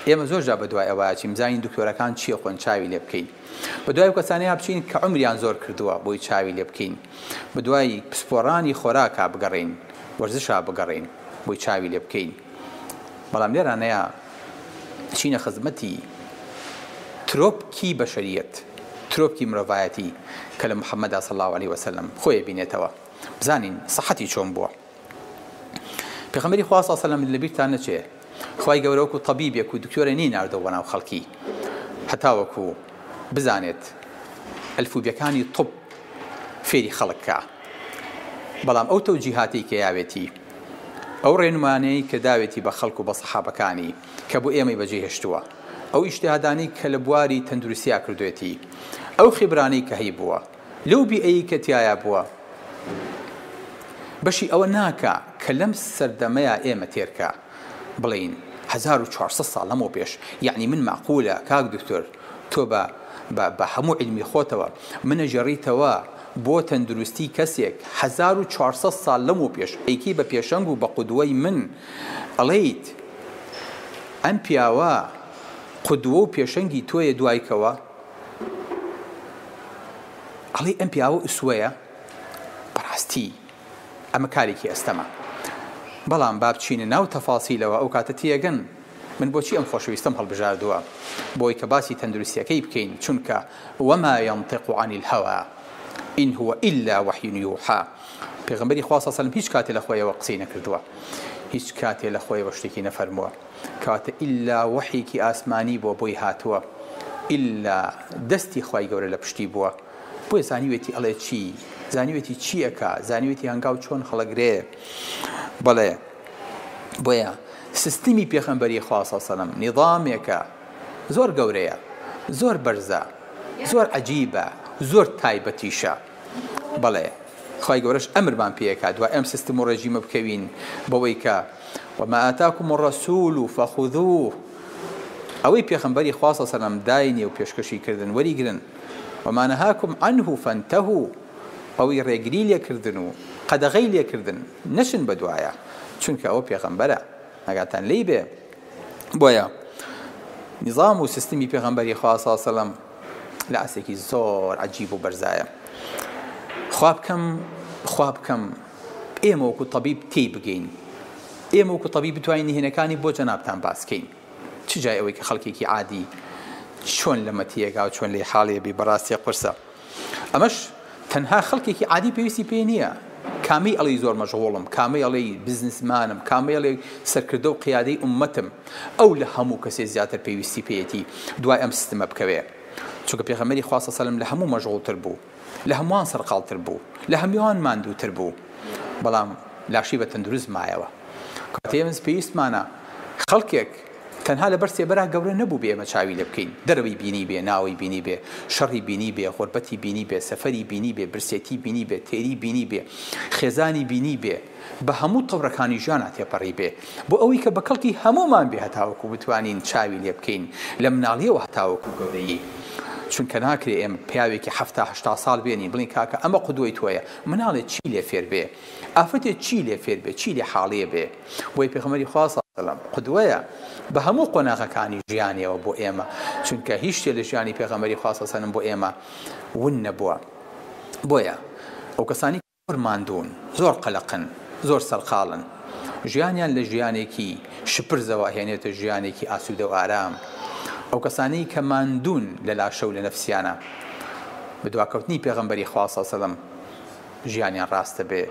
ئێمە زۆر جار بەدوای ئەوە ئەچین بزانین دکتۆرەکان چی ئەخۆن چاوی لێ بکەین. بەدوای ئەو کەسانەیا بچین کە عومریان زۆر کردووە بۆی چاوی لێ بکەین. بەدوای پسپۆڕانی خۆراکا بگەڕێین، وەرزشا بگەڕێین بۆی چاوی لێ بکەین. بەڵام لێرانەیا چینە خزمەتی ترۆپکی بەشەریەت، ترۆپکی مرۆڤایەتی کە لە محەممەدا صلی اللە علیە وسلم خۆی ئەبینێتەوە. بزانین سەحەتی چۆن بووە. پێغەمبەری خوا صلی اللە علیە وسلم لەبیرتان نەچێ خوای گەورە وەکو تەبیبێک و دکتۆرێ نەیناردەوە بۆ ناو خەڵکی هەتاوەکو بزانێت ئەلفوبیەکانی طب فێری خەڵک کا بەڵام ئەو تەوجیهاتەی کە یاوێتی ئەو ڕێنمانەی کە داوێتی بە خەڵک و بە سەحابەکانی کە بۆ ئێمەی بەجێ هێشتووە ئەو ئیجتیهادانەی کە لە بواری تەندروستیا کردوێتی ئەو خیبرانەی کە هەیبووە لەو بیئەیەی کە تیایا بووە بەشی ئەوە ناکا کە لەم سەردەمەیا ئێمە تێرکا بڵێین 1400 ساڵ لەمەو پێش یەعنی من مەعقولە کاک دکتۆر تۆ بە بە بە هەموو عیلمی خۆتەوە منە ژێڕیتەوە بۆ تەندروستی کەسێک 1400 ساڵ لەمەو پێش ئەیکەی بە پێشەنگ و بە قودوەی من ئەڵێیت ئەم پیاوە قودوە و پێشەنگی تۆیە دوای کەوە ئەڵێی ئەم پیاوە ئوسوەیە؟ بەڕاستی ئەمە کارێکی ئەستەمە. بەڵام با بچینە ناو تەفاسیلەوە ئەو کاتە تێگەن من بۆچی ئەم خۆشەویستەم هەڵبژاردووە بۆی کە باسی تەندروستیەکەی بکەین چونکە وما ينطق عن الهوى إن هو إلا وحی يوحى پێغەمبەری خوا صلی الله علیه و سلم هیچ کاتێ لە خۆیەوە قسەی نەکردووە هیچ کاتێ لە خۆیەوە شتێکی نەفەرمووە کەواتە ئیلا وەحیەکی ئاسمانی بووە بۆی هاتووە ئیلا دەستی خوای گەورە لە پشتی بووە بۆیە زانیوێتی ئەڵێ چی زانیوێتی چی ئەکا زانیوێتی هەنگاو چۆن هەڵەگرێ بەڵێ بۆیە سیستمی پێخەمبەری خوا صلی سەلەم نیظامێکە زۆر گەورەیە زۆر بەرزە زۆر عجیبە زۆر تایبەتیشە بەڵێ خوای گەورەش ئەمرمان پێ ئەکات دوای ئەم سیستم و ڕێژیمە بکەوین بەوەی کە وما آتاکم الرسول فخذوه ئەوەی پێخەمبەری خوا صلی سەلام داینێ و پێشکەشی کردن وەریگرن وما نهاکم عنه فانتهوا ئەوەی ڕێگری لێکردن و قەدەغەی لێکردن نەچن بەدوایە چونکە ئەوە پێغەمبەرە ئاگاتان لێی بێ بۆیە نیزام و سیستمی پێغەمبەری خوا صلی سەلام لە ئاستێکی زۆر عەجیب و بەرزایە خوا بکەم خوا بکەم ئێمە وەکو تەبیب تێی بگەین ئێمە وەکو تەبیب بتوانین نهێنەکانی بۆ جەنابتان باسکەین چ جای ئەوەی کە خەڵکێکی عادی چۆن لەمە تێگا و چۆن لێی حاڵێ بی بەڕاستی قورسە ئەمەش تەنها خەڵکێکی عادی پێویستی پێ نییە کامەی ئەڵێی زۆر مەشغوڵم کامەی ئەڵێی بزنسمانم کامەی ئەڵێی سەرکردە و قیادەی ئوممەتم ئەو لە هەموو کەسێ زیاتر پێویستی پێیەتی دوای ئەم سیستمە بکەوێ چونکە پێغەمبەری خوا صلی سەلەم لە هەموو مەشغوڵتر بوو لە هەمووان سەرقاڵتر بوو لە هەمووان ماندووتر بوو بەڵام لاشەی بە تەندروست مایەوە کاتێ ئێمە پێویستمانە خەڵکێک تەنها لەبەر سێبەرا گەورە نەبووبێ ئێمە چاوی لێ بکەین، دەرەوەی بینیبێ، ناوەی بینیبێ، شەڕی بینیبێ، غوربەتی بینیبێ، سەفەری بینیبێ، برسێتی بینیبێ، تێری بینیبێ، خێزانی بینیبێ، بە هەموو تەورەکانی ژیانا تێپەڕیبێ، بۆ ئەوەی کە بە کەڵکی هەموومان بێ هەتاوەکو بتوانین چاوی لێ بکەین لە مناڵیەوە هەتاوەکو گەورەیی. چونکە ناکرێ ئێمە پیاوێکی حەفتا هەشتا ساڵ بێنین بڵێین کاکە ئەمە قودوەی تۆیە، مناڵێ چی لێ فێر بێ؟ ئافرەتێ چی لێ فێر بێ؟ چی لێ حاڵیە بێ؟ بۆیە پێغەمبەری خوا صلی اللە علیە قودوەیە بە هەموو قۆناغەکانی ژیانیەوە بۆ ئێمە چونکە هیچ شتێ لە ژیانی پێغەمبەری خوا صلی اللە علیە بۆ ئێمە ون نەبووە بۆیە ئەو کەسانی زۆر ماندوون زۆر قەلەقن زۆر سەرقاڵن ژیانیان لە ژیانێکی شپرزەوە هێنێتە ژیانێکی ئاسوودە و ئارام ئەو کەسانەی کە ماندوون لە لاشە و لە نەفسیانە بە دواکەوتنی پێغەمبەری خوا صلی اللە علیە ژیانیان ڕاستە بێ.